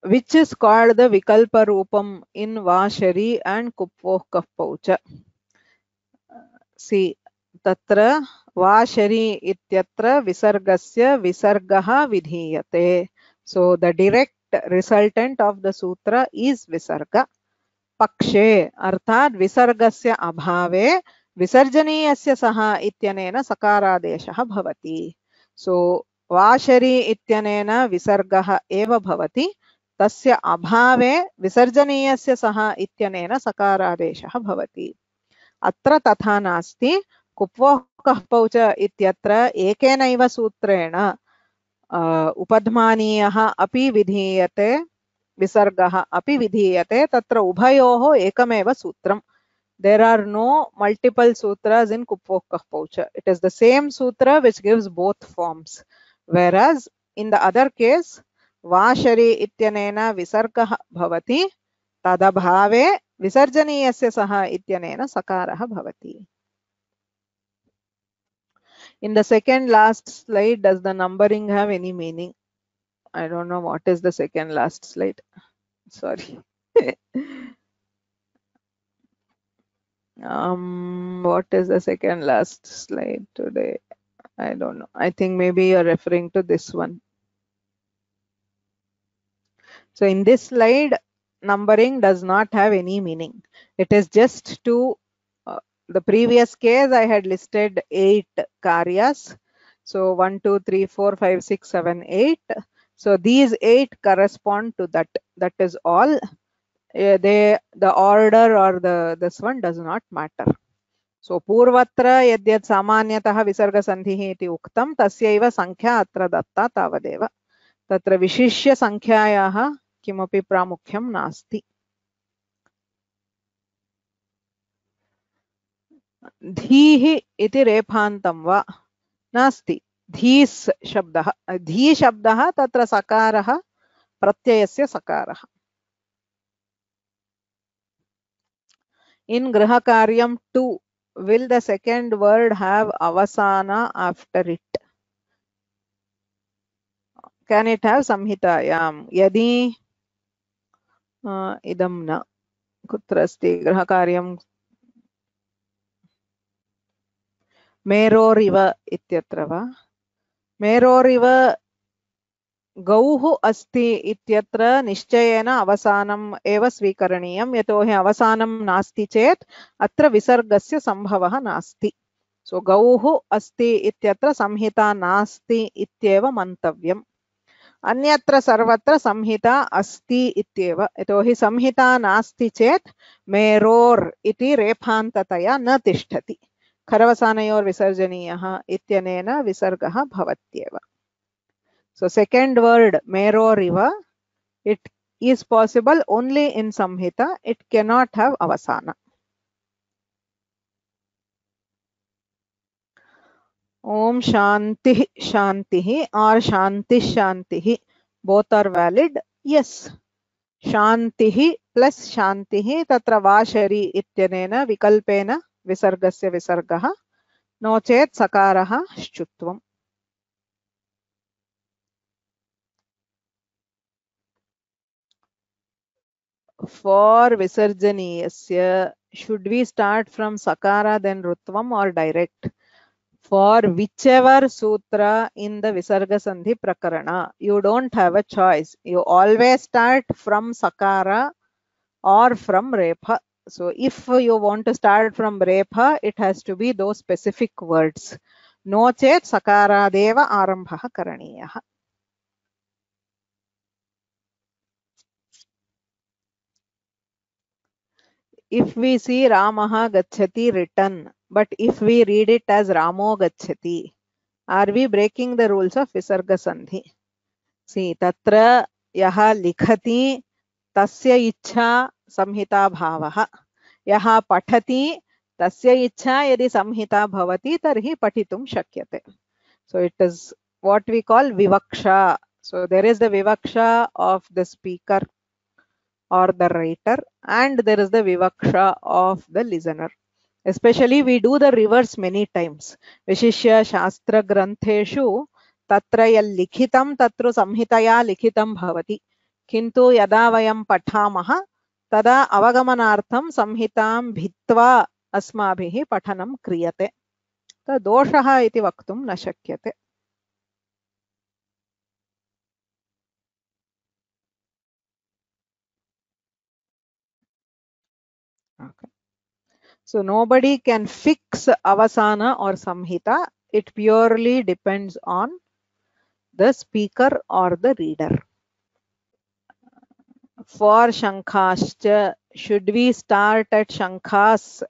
Which is called the vikalpa rupam in vashari and kupvoh kaf paucha. See, tatra vashari ityatra visargasya visargaha vidhiyate. So the direct resultant of the sutra is visarga. Pakshe अर्थात विसर्गस्य अभावे विसर्जनीयस्य सह इत्यनेन सकारादेशः भवति. So washery इत्यनेन विसर्गः एव भवति. तस्य अभावे विसर्जनीयस्य सह इत्यनेन सकारादेशः भवति. अत्र तथा नास्ति. कुप्वोः कः पौच इत्यत्र एकेनैव सूत्रेण उपध्मानीयः अपि विधीयते visargaha api vidhiyate tatra ubhayoho ekam sutram. There are no multiple sutras in kupvoh kaf paucha. It is the same sutra which gives both forms. Whereas in the other case, vashari ityanena visargah bhavati tadabhave visarjaniyasya saha ityanena sakarah bhavati. In the second last slide, does the numbering have any meaning? I don't know what is the second last slide. Sorry. What is the second last slide today? I don't know. I think maybe you're referring to this one. So in this slide, numbering does not have any meaning. It is just to the previous case I had listed 8 karyas. So 1, 2, 3, 4, 5, 6, 7, 8. So these 8 correspond to that. That is all. The order or this one does not matter. So purvatra yadyat samanyatah visarga sandhihi iti uktam tasyaiva sankhya atra datta tavadeva. Tatra vishishya sankhyayaha kimapi pramukhyam nasti. Dhihi iti rephantam va nasti. Dhis shabdah. Dhi shabdah tatra sakarah pratyayasya sakarah. In Griha Karyam 2, will the second word have avasana after it? can it have samhitayam? Yadi idam na. Kutra asti grahakaryam meroriva ityatra va. Meroriva गौः अस्ति इत्यत्र निश्चयेन अवसानम् एव स्वीकरणीयं यतोहि अवसानं नास्ति चेत् अत्र विसर्गस्य सम्भवः नास्ति. सो गौः अस्ति इत्यत्र संहिता नास्ति इत्येव मन्तव्यम्. अन्यत्र सर्वत्र संहिता अस्ति इत्येव, यतोहि संहिता नास्ति चेत् मेरोर् इति रेफान्ततया न तिष्ठति. खरवसानयोर्विसर्जनीयः इत्यनेन विसर्गः भवत्येव. So second word meroriva, it is possible only in samhita, it cannot have avasana. Om shanti shantihi or shanti shantihi, both are valid. Yes, shantihi plus shantihi tatra vashari ityanena vikalpena visargasya visargaha, no chet sakaraha shchutvam. For visarjaniyasya, should we start from sakara then rutvam or direct? For whichever sutra in the visarga sandhi prakarana, you don't have a choice. You always start from sakara or from repha. So if you want to start from repha, it has to be those specific words. No chet sakara deva arambha karaniyah. If we see Ramaha gacchati written, but if we read it as Ramo gacchati, are we breaking the rules of Visarga Sandhi? See, tatra yaha likhati tasya ichha samhita bhavaha. Yaha pathati tasya ichha yadi samhita bhavati tarhi patitum shakyate. So it is what we call vivaksha. So there is the vivaksha of the speaker or the writer, and there is the vivaksha of the listener. Especially we do the reverse many times. Vishishya shastra grantheshu tatra yal likhitam tatru samhitaya likhitam bhavati. Kintu yada vayam pathamaha tada avagamanartham samhitam bhitva asmabhihi pathanam kriyate. Ta doshaha iti vaktum na shakyate. Okay. So nobody can fix avasana or samhita. It purely depends on the speaker or the reader. For shankhascha, should we start at shankhas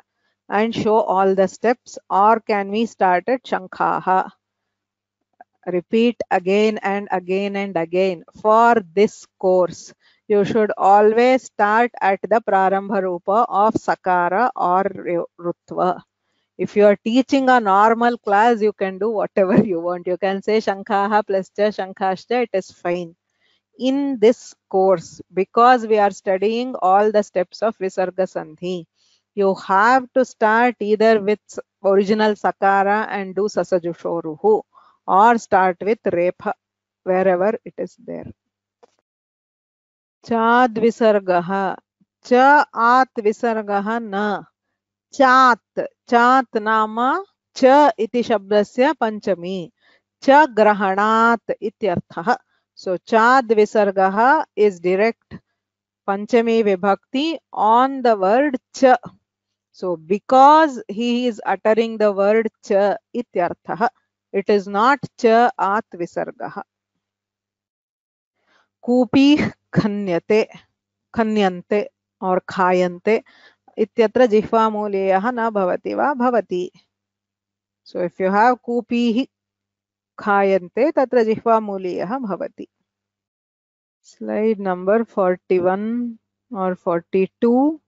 and show all the steps, or can we start at shankhaha? Repeat again and again and again. For this course, you should always start at the prarambha rupa of sakara or rutva. If you are teaching a normal class, you can do whatever you want. You can say shankhaha plus cha shankhascha, it is fine. In this course, because we are studying all the steps of Visarga Sandhi, you have to start either with original sakara and do sasajushoruhu, or start with repha wherever it is there. Chad visargaha, cha at visargaha na, chat, chat nama cha iti shabdasya panchami, cha grahanat ityartha. So chad visargaha is direct panchami vibhakti on the word cha. So because he is uttering the word cha ityartha, it is not cha at visargaha. Kupi khanyate, khanyante or khayante ityatra jihva muleyah na bhavati va bhavati. So if you have kupi khayante, tatra jihva muleyah bhavati. Slide number 41 or 42.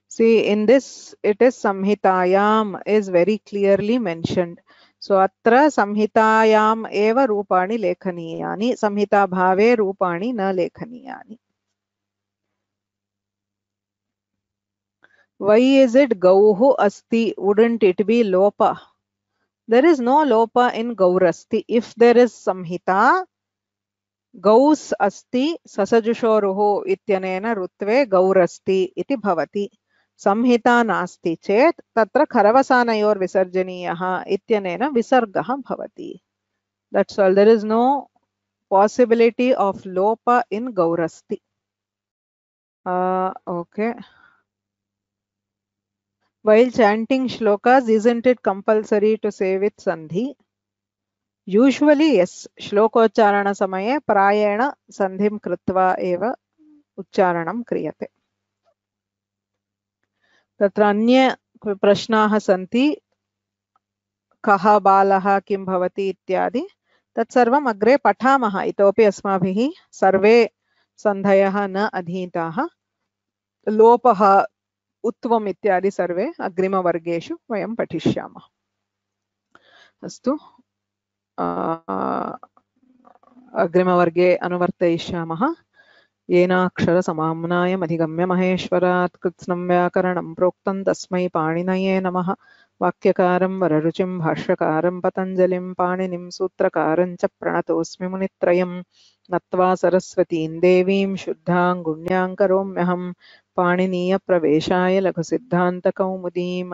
See, in this, it is samhitayam is very clearly mentioned. So atra samhitayam eva rupani lekhaniyani, samhita bhave rupani na lekhaniyani. Why is it gauhu asti? Wouldn't it be lopa? There is no lopa in gaurasti. If there is samhita, गौस् अस्ति ससजुषोरुः इत्यनेन ऋत्वे गौरस्ति इति भवति। संहिता नास्ति चेत् तत्र खरवसानयोर्विसर्जनीयः इत्यनेन विसर्गः भवति। That's all. There is no possibility of lopa in gaurasti. Okay. While chanting shlokas, isn't it compulsory to say with sandhi? Usually, yes. Shlokocharana samaye prayena sandhim kritva eva uchcharanam kriyate. तत्र अन्य प्रश्नाः सन्ति, कः बालः किं भवति इत्यादि, तत्सर्वम् अग्रे पठामः। इतोपि अस्माभिः सर्वे सन्धयः न अधीताः। लोपः उत्वम् इत्यादि सर्वे अग्रिमवर्गेषु वयं पठिष्यामः। अस्तु, अग्रिमवर्गे अनुवर्तयिष्यामः। येनाक्षरसमाम्नायमधिगम्य महेश्वरात् कृत्स्नं व्याकरणं प्रोक्तं तस्मै पाणिनये नमः। वाक्यकारं वररुचिं भाष्यकारं पतञ्जलिं पाणिनिं सूत्रकारं च प्रणतोऽस्मि मुनित्रयं। नत्वा सरस्वतीं देवीं शुद्धां गुण्यां करोम्यहं। पाणिनीयप्रवेशाय लघुसिद्धान्तकौमुदीं